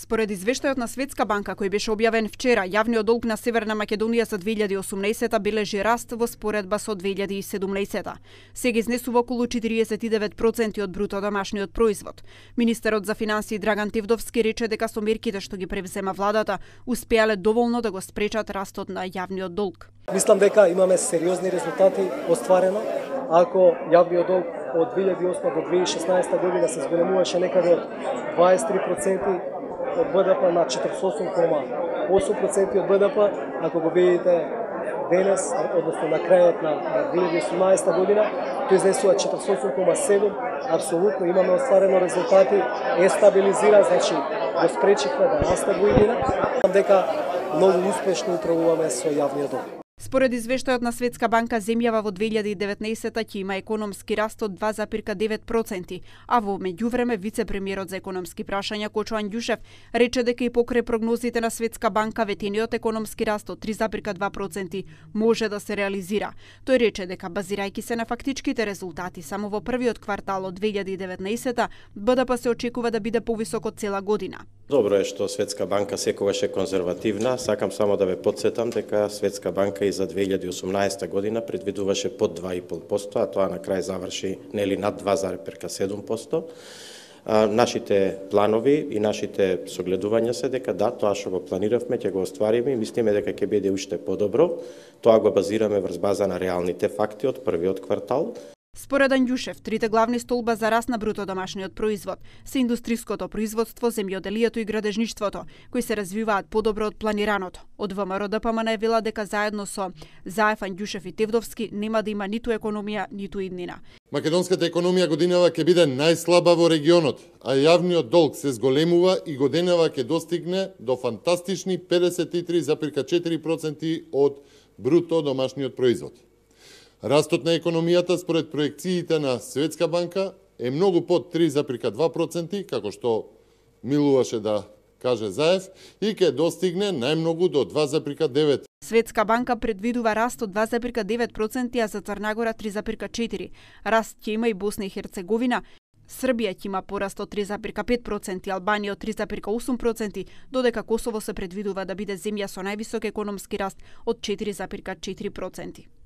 Според извештајот на Светска банка кој беше објавен вчера, јавниот долг на Северна Македонија за 2018 бележи раст во споредба со 2017. Сега изнесува околу 49% од бруто домашниот производ. Министерот за финансии Драган Тевдовски рече дека со мерките што ги превзема владата успеале доволно да го спречат растот на јавниот долг. Мислам дека имаме сериозни резултати остварено. Ако јавниот долг од 2008 до 2016 година се зголемуваше некаде од 23% од БДП на 48,8% од БДП, ако го видите денес, односно на крајот на 2018 година, тој изнесува 48,7%, апсолутно имаме остварено резултати, е стабилизира, значи го спречихме да расте во иднина, дека многу успешно управуваме со јавниот долг. Според извештајот на Светска банка, земјава во 2019 ќе има економски раст од 2,9%, а во меѓувреме вице-премиерот за економски прашања Кочо Анѓушев рече дека и покрај прогнозите на Светска банка ветениот економски раст од 3,2% може да се реализира. Тој рече дека базирајќи се на фактичките резултати само во првиот квартал од 2019 БДП се очекува да биде повисок од цела година. Добро е што Светска банка секогаш е конзервативна. Сакам само да ве потсетам дека Светска банка и за 2018 година предвидуваше под 2,5%, а тоа на крај заврши нели над 2,7%. Нашите планови и нашите согледувања се дека да, тоа што го планиравме ќе го оствариме и мислиме дека ќе биде уште подобро. Тоа го базираме врз база на реалните факти од првиот квартал. Според Анѓушев, трите главни столба за раст на бруто домашниот производ се индустриското производство, земјоделието и градежништвото, кои се развиваат подобро од планираното. Од ВМРО ДПМН вела дека заедно со Заев, Анѓушев и Тевдовски нема да има ниту економија, ниту иднина. Македонската економија годинава ќе биде најслаба во регионот, а јавниот долг се зголемува и годинава ќе достигне до фантастични 53,4% од бруто домашниот производ. Растот на економијата според проекциите на Светска банка е многу под 3,2%, како што милуваше да каже Заев, и ќе достигне најмногу до 2,9%. Светска банка предвидува раст од 2,9%, а за Црна Гора 3,4%. Раст ќе има и Босна и Херцеговина. Србија ќе има пораст од 3,5%, Албанија од 3,8%, додека Косово се предвидува да биде земја со највисок економски раст од 4,4%.